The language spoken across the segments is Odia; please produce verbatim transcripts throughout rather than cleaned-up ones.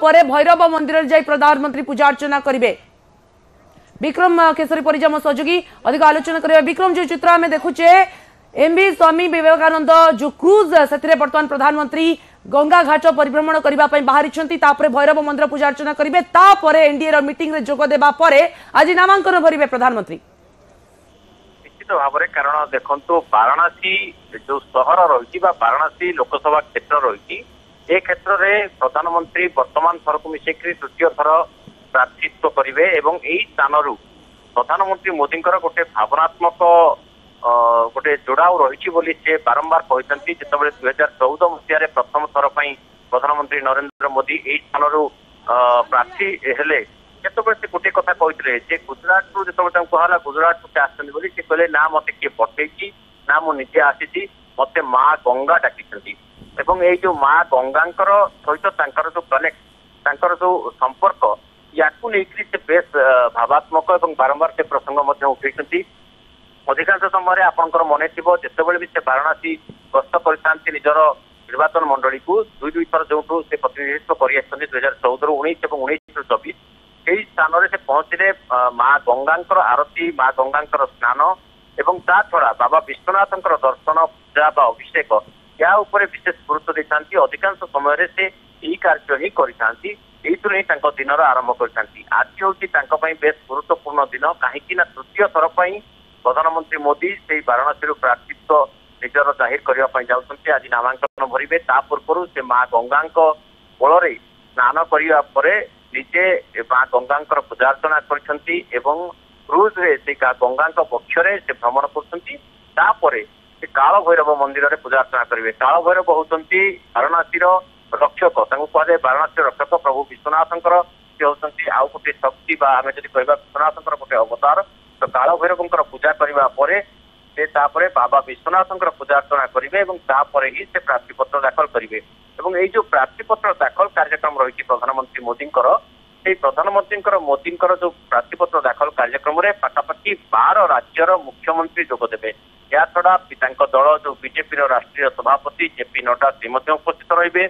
ପରେ ଭୈରବ ମନ୍ଦିରରେ ଯାଇ ପ୍ରଧାନମନ୍ତ୍ରୀ ପୂଜା ଅର୍ଚ୍ଚନା କରିବେ। ବିକ୍ରମ କେଶରୀ ପରିଜା ମୋ ସହଯୋଗୀ, ଅଧିକ ଆଲୋଚନା କରିବା। ବିକ୍ରମ, ଯେଉଁ ଚିତ୍ର ଆମେ ଦେଖୁଛେ, ଏମଭି ସ୍ୱାମୀ ବିବେକାନନ୍ଦ ଯେଉଁ କ୍ରୁଜ, ସେଥିରେ ବର୍ତ୍ତମାନ ପ୍ରଧାନମନ୍ତ୍ରୀ ଗଙ୍ଗା ଘାଟ ପରିଭ୍ରମଣ କରିବା ପାଇଁ ବାହାରିଛନ୍ତି। ତାପରେ ଭୈରବ ମନ୍ଦିର ପୂଜା ଅର୍ଚ୍ଚନା କରିବେ, ତାପରେ ଏନଡିଏ ର ମିଟିଂରେ ଯୋଗ ଦେବା ପରେ ଆଜି ନାମାଙ୍କନ ଭରିବେ ପ୍ରଧାନମନ୍ତ୍ରୀ। ନିଶ୍ଚିତ ଭାବରେ, କାରଣ ଦେଖନ୍ତୁ, ବାରାଣାସୀ ଯୋଉ ସହର ରହିଛି ବା ବାରାଣାସୀ ଲୋକସଭା କ୍ଷେତ୍ର ରହିଛି, ଏ କ୍ଷେତ୍ରରେ ପ୍ରଧାନମନ୍ତ୍ରୀ ବର୍ତ୍ତମାନ ଥରକୁ ମିଶେଇକରି ତୃତୀୟ ଥର ପ୍ରାର୍ଥିତ୍ୱ କରିବେ। ଏବଂ ଏଇ ସ୍ଥାନରୁ ପ୍ରଧାନମନ୍ତ୍ରୀ ମୋଦିଙ୍କର ଗୋଟେ ଭାବନାତ୍ମକ ଗୋଟେ ଯୋଡ଼ାଉ ରହିଛି ବୋଲି ସେ ବାରମ୍ବାର କହିଛନ୍ତି। ଯେତେବେଳେ ଦୁଇ ହଜାର ଚଉଦ ମସିହାରେ ପ୍ରଥମ ଥର ପାଇଁ ପ୍ରଧାନମନ୍ତ୍ରୀ ନରେନ୍ଦ୍ର ମୋଦି ଏଇ ସ୍ଥାନରୁ ପ୍ରାର୍ଥୀ ହେଲେ, ସେତେବେଳେ ସେ ଗୋଟିଏ କଥା କହିଥିଲେ ଯେ ଗୁଜରାଟରୁ ଯେତେବେଳେ ତାଙ୍କୁ କୁହାଗଲା ଗୁଜରାଟରୁ ସେ ଆସିଛନ୍ତି ବୋଲି, ସେ କହିଲେ, ନା ମତେ କିଏ ପଠେଇଛି ନା ମୁଁ ନିଜେ ଆସିଛି, ମତେ ମା ଗଙ୍ଗା ଡାକିଛନ୍ତି। ଏବଂ ଏଇ ଯୋଉ ମା ଗଙ୍ଗାଙ୍କର ସହିତ ତାଙ୍କର ଯୋଉ କନେକ୍ଟ, ତାଙ୍କର ଯୋଉ ସମ୍ପର୍କ, ୟାକୁ ନେଇକରି ସେ ବେଶ ଭାବାତ୍ମକ ଏବଂ ବାରମ୍ବାର ସେ ପ୍ରସଙ୍ଗ ମଧ୍ୟ ଉଠେଇଛନ୍ତି। ଅଧିକାଂଶ ସମୟରେ ଆପଣଙ୍କର ମନେ ଥିବ, ଯେତେବେଳେ ବି ସେ ବାରାଣାସୀ ଗସ୍ତ କରିଥାନ୍ତି ନିଜର ନିର୍ବାଚନ ମଣ୍ଡଳୀକୁ, ଦୁଇ ଦୁଇ ଥର ଯୋଉଠୁ ସେ ପ୍ରତିନିଧିତ୍ୱ କରି ଆସିଛନ୍ତି, ଦୁଇ ହଜାର ଚଉଦରୁ ଉଣେଇଶ ଏବଂ ଉଣେଇଶରୁ ଚବିଶ, ସେଇ ସ୍ଥାନରେ ସେ ପହଞ୍ଚିଲେ ମା ଗଙ୍ଗାଙ୍କର ଆରତୀ, ମା ଗଙ୍ଗାଙ୍କର ସ୍ନାନ ଏବଂ ତା ଛଡା ବାବା ବିଶ୍ୱନାଥଙ୍କର ଦର୍ଶନ, ପୂଜା ବା ଅଭିଷେକ, ଏହା ଉପରେ ବିଶେଷ ଗୁରୁତ୍ୱ ଦେଇଥାନ୍ତି। ଅଧିକାଂଶ ସମୟରେ ସେ ଏଇ କାର୍ଯ୍ୟ ହିଁ କରିଥାନ୍ତି, ଏଇଥିରୁ ହିଁ ତାଙ୍କ ଦିନର ଆରମ୍ଭ କରିଥାନ୍ତି। ଆଜି ହଉଛି ତାଙ୍କ ପାଇଁ ବେଶ ଗୁରୁତ୍ୱପୂର୍ଣ୍ଣ ଦିନ, କାହିଁକି ନା ତୃତୀୟ ଥର ପାଇଁ ପ୍ରଧାନମନ୍ତ୍ରୀ ମୋଦି ସେଇ ବାରାଣାସୀରୁ ପ୍ରାର୍ଥିତ୍ୱ ନିଜର ଜାହିର କରିବା ପାଇଁ ଯାଉଛନ୍ତି। ଆଜି ନାମାଙ୍କନ ଭରିବେ। ତା ପୂର୍ବରୁ ସେ ମା ଗଙ୍ଗାଙ୍କ କୋଳରେ ସ୍ନାନ କରିବା ପରେ ନିଜେ ମା ଗଙ୍ଗାଙ୍କର ପୂଜାର୍ଚ୍ଚନା କରିଛନ୍ତି ଏବଂ କ୍ରୁଜରେ ସେ ଗଙ୍ଗାଙ୍କ ପକ୍ଷରେ ସେ ଭ୍ରମଣ କରୁଛନ୍ତି। ତାପରେ ସେ କାଳ ଭୈରବ ମନ୍ଦିରରେ ପୂଜାର୍ଚ୍ଚନା କରିବେ। କାଳ ଭୈରବ ହଉଛନ୍ତି ବାରାଣାସୀର ରକ୍ଷକ, ତାଙ୍କୁ କୁହାଯାଏ ବାରାଣାସୀର ରକ୍ଷକ। ପ୍ରଭୁ ବିଶ୍ୱନାଥଙ୍କର ସେ ହଉଛନ୍ତି ଆଉ ଗୋଟେ ଶକ୍ତି ବା ଆମେ ଯଦି କହିବା ବିଶ୍ୱନାଥଙ୍କର ଗୋଟେ ଅବତାର। ତ କାଳ ଭୈରବଙ୍କର ପୂଜା କରିବା ପରେ ସେ ତାପରେ ବାବା ବିଶ୍ୱନାଥଙ୍କର ପୂଜା ଅର୍ଚ୍ଚନା କରିବେ ଏବଂ ତାପରେ ହିଁ ସେ ପ୍ରାର୍ଥୀପତ୍ର ଦାଖଲ କରିବେ। ଏବଂ ଏଇ ଯୋଉ ପ୍ରାର୍ଥୀପତ୍ର ଦାଖଲ କାର୍ଯ୍ୟକ୍ରମ ରହିଛି ପ୍ରଧାନମନ୍ତ୍ରୀ ମୋଦିଙ୍କର, ସେଇ ପ୍ରଧାନମନ୍ତ୍ରୀଙ୍କର ମୋଦିଙ୍କର ଯୋଉ ପ୍ରାର୍ଥୀପତ୍ର ଦାଖଲ କାର୍ଯ୍ୟକ୍ରମରେ ପାଖାପାଖି ବାର ରାଜ୍ୟର ମୁଖ୍ୟମନ୍ତ୍ରୀ ଯୋଗ ଦେବେ। ଏହାଛଡା ତାଙ୍କ ଦଳ ଯୋଉ ବିଜେପିର ରାଷ୍ଟ୍ରୀୟ ସଭାପତି ଜେପି ନଡ୍ଡା, ସେ ମଧ୍ୟ ଉପସ୍ଥିତ ରହିବେ।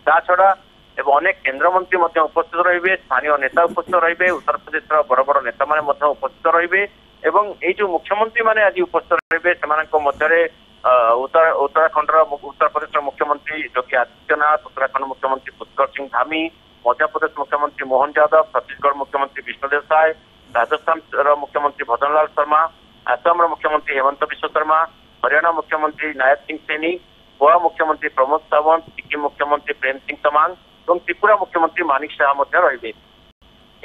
ତା ଛଡା ଏବଂ ଅନେକ କେନ୍ଦ୍ରମନ୍ତ୍ରୀ ମଧ୍ୟ ଉପସ୍ଥିତ ରହିବେ, ସ୍ଥାନୀୟ ନେତା ଉପସ୍ଥିତ ରହିବେ, ଉତ୍ତରପ୍ରଦେଶର ବଡ ବଡ ନେତାମାନେ ମଧ୍ୟ ଉପସ୍ଥିତ ରହିବେ। ଏବଂ ଏଇ ଯୋଉ ମୁଖ୍ୟମନ୍ତ୍ରୀ ମାନେ ଆଜି ଉପସ୍ଥିତ ରହିବେ, ସେମାନଙ୍କ ମଧ୍ୟରେ ଉତ୍ତର ଉତ୍ତରାଖଣ୍ଡର ଉତ୍ତରପ୍ରଦେଶର ମୁଖ୍ୟମନ୍ତ୍ରୀ ଯୋଗୀ ଆଦିତ୍ୟନାଥ, ଉତ୍ତରାଖଣ୍ଡ ମୁଖ୍ୟମନ୍ତ୍ରୀ ପୁଷ୍କର ସିଂ ଧାମି, ମଧ୍ୟପ୍ରଦେଶ ମୁଖ୍ୟମନ୍ତ୍ରୀ ମୋହନ ଯାଦବ, ଛତିଶଗଡ଼ ମୁଖ୍ୟମନ୍ତ୍ରୀ ବିଷ୍ଣୁଦେବ ସାଏ, ରାଜସ୍ଥାନର ମୁଖ୍ୟମନ୍ତ୍ରୀ ଭଜନଲାଲ ଶର୍ମା, ଆସାମର ମୁଖ୍ୟମନ୍ତ୍ରୀ ହେମନ୍ତ ବିଶ୍ୱ ଶର୍ମା, ହରିୟାଣା ମୁଖ୍ୟମନ୍ତ୍ରୀ ନାୟବ ସିଂ ସୈନି, ଗୋଆ ମୁଖ୍ୟମନ୍ତ୍ରୀ ପ୍ରମୋଦ ସାୱନ୍ତ, ସିକିମ ମୁଖ୍ୟମନ୍ତ୍ରୀ ପ୍ରେମ ସିଂ ତମାଙ୍ଗ ଏବଂ ତ୍ରିପୁରା ମୁଖ୍ୟମନ୍ତ୍ରୀ ମାନିକ ଶାହା ମଧ୍ୟ ରହିବେ।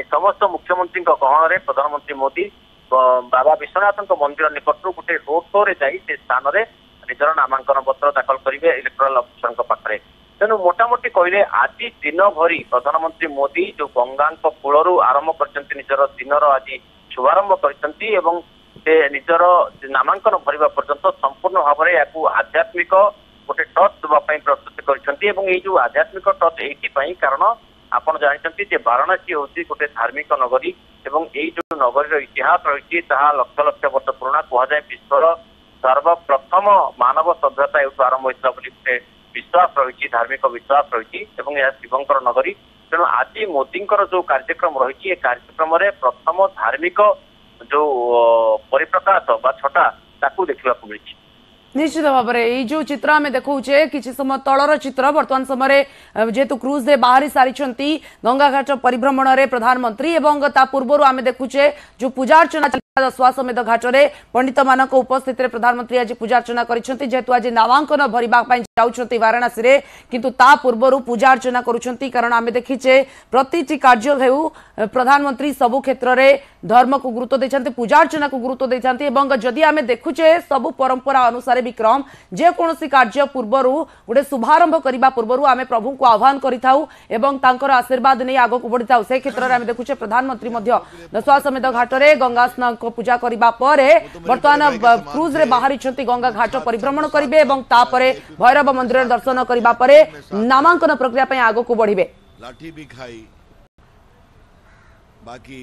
ଏ ସମସ୍ତ ମୁଖ୍ୟମନ୍ତ୍ରୀଙ୍କ ଗହଣରେ ପ୍ରଧାନମନ୍ତ୍ରୀ ମୋଦି ବାବା ବିଶ୍ୱନାଥଙ୍କ ମନ୍ଦିର ନିକଟରୁ ଗୋଟେ ରୋଡ ଶୋରେ ଯାଇ ସେ ସ୍ଥାନରେ ନିଜର ନାମାଙ୍କନ ପତ୍ର ଦାଖଲ କରିବେ ଇଲେକ୍ଟ୍ରାଲ ଅଫିସରଙ୍କ ପାଖରେ। ତେଣୁ ମୋଟାମୋଟି କହିଲେ ଆଜି ଦିନ ଭରି ପ୍ରଧାନମନ୍ତ୍ରୀ ମୋଦି ଯୋଉ ଗଙ୍ଗାଙ୍କ କୂଳରୁ ଆରମ୍ଭ କରିଛନ୍ତି, ନିଜର ଦିନର ଆଜି ଶୁଭାରମ୍ଭ କରିଛନ୍ତି ଏବଂ ସେ ନିଜର ନାମାଙ୍କନ ଭରିବା ପର୍ଯ୍ୟନ୍ତ ସମ୍ପୂର୍ଣ୍ଣ ଭାବରେ ଏହାକୁ ଆଧ୍ୟାତ୍ମିକ ଗୋଟେ ଟଚ୍ ଦେବା ପାଇଁ ପ୍ରସ୍ତୁତି କରିଛନ୍ତି। ଏବଂ ଏଇ ଯୋଉ ଆଧ୍ୟାତ୍ମିକ ଟଚ୍ ଏଇଥିପାଇଁ, କାରଣ ଆପଣ ଜାଣିଛନ୍ତି ଯେ ବାରାଣାସୀ ହଉଛି ଗୋଟେ ଧାର୍ମିକ ନଗରୀ ଏବଂ ଏଇ ଯୋଉ ନଗରୀର ଇତିହାସ ରହିଛି ତାହା ଲକ୍ଷ ଲକ୍ଷ ବର୍ଷ ପୁରୁଣା। କୁହାଯାଏ ବିଶ୍ୱର ସର୍ବପ୍ରଥମ ମାନବ ସଭ୍ୟତା ଏଇଠୁ ଆରମ୍ଭ ହୋଇଥିଲା ବୋଲି ଗୋଟେ ବିଶ୍ୱାସ ରହିଛି, ଧାର୍ମିକ ବିଶ୍ୱାସ ରହିଛି ଏବଂ ଏହା ଶିବଙ୍କର ନଗରୀ। ତେଣୁ ଆଜି ମୋଦିଙ୍କର ଯୋଉ କାର୍ଯ୍ୟକ୍ରମ ରହିଛି, ଏ କାର୍ଯ୍ୟକ୍ରମରେ ପ୍ରଥମ ଧାର୍ମିକ ଯୋଉ ପରିପ୍ରକାଶ ବା ଛଟା, ତାକୁ ଦେଖିବାକୁ ମିଳିଛି। ନିଶ୍ଚିତ ଭାବରେ ଏଇ ଯୋଉ ଚିତ୍ର ଆମେ ଦେଖାଉଛେ, କିଛି ସମୟ ତଳର ଚିତ୍ର। ବର୍ତ୍ତମାନ ସମୟରେ ଯେହେତୁ କ୍ରୁଜରେ ବାହାରି ସାରିଛନ୍ତି ଗଙ୍ଗାଘାଟ ପରିଭ୍ରମଣରେ ପ୍ରଧାନମନ୍ତ୍ରୀ ଏବଂ ତା ପୂର୍ବରୁ ଆମେ ଦେଖୁଛେ ଯୋଉ ପୂଜାର୍ଚ୍ଚନା ଦଶାଶ୍ୱମେଧ ଘାଟରେ ପଣ୍ଡିତମାନଙ୍କ ଉପସ୍ଥିତିରେ ପ୍ରଧାନମନ୍ତ୍ରୀ ଆଜି ପୂଜାର୍ଚ୍ଚନା କରିଛନ୍ତି। ଯେହେତୁ ଆଜି ନାମାଙ୍କନ ଭରିବା ପାଇଁ ଯାଉଛନ୍ତି ବାରାଣାସୀରେ, କିନ୍ତୁ ତା ପୂର୍ବରୁ ପୂଜାର୍ଚ୍ଚନା କରୁଛନ୍ତି, କାରଣ ଆମେ ଦେଖିଛେ ପ୍ରତିଟି କାର୍ଯ୍ୟ ହେଉ ପ୍ରଧାନମନ୍ତ୍ରୀ ସବୁ କ୍ଷେତ୍ରରେ ଧର୍ମକୁ ଗୁରୁତ୍ୱ ଦେଇଛନ୍ତି, ପୂଜାର୍ଚ୍ଚନାକୁ ଗୁରୁତ୍ୱ ଦେଇଛନ୍ତି। ଏବଂ ଯଦି ଆମେ ଦେଖୁଛେ ସବୁ ପରମ୍ପରା ଅନୁସାରେ ବିକ୍ରମ, ଯେକୌଣସି କାର୍ଯ୍ୟ ପୂର୍ବରୁ, ଗୋଟେ ଶୁଭାରମ୍ଭ କରିବା ପୂର୍ବରୁ ଆମେ ପ୍ରଭୁଙ୍କୁ ଆହ୍ୱାନ କରିଥାଉ ଏବଂ ତାଙ୍କର ଆଶୀର୍ବାଦ ନେଇ ଆଗକୁ ବଢିଥାଉ। ସେ କ୍ଷେତ୍ରରେ ଆମେ ଦେଖୁଛେ ପ୍ରଧାନମନ୍ତ୍ରୀ ମଧ୍ୟ ଦଶାଶ୍ୱମେଧ ଘାଟରେ ଗଙ୍ଗା ପୂଜା କରିବା ପରେ ବର୍ତ୍ତମାନ କ୍ରୁଜରେ ବାହାରିଛନ୍ତି, ଗଙ୍ଗା ଘାଟ ପରିଭ୍ରମଣ କରିବେ ଏବଂ ତାପରେ ଭୈରବ ମନ୍ଦିରରେ ଦର୍ଶନ କରିବା ପରେ ନାମାଙ୍କନ ପ୍ରକ୍ରିୟା ପାଇଁ ଆଗକୁ ବଢିବେ। ଲାଠି ବି ଖାଇ ବାକି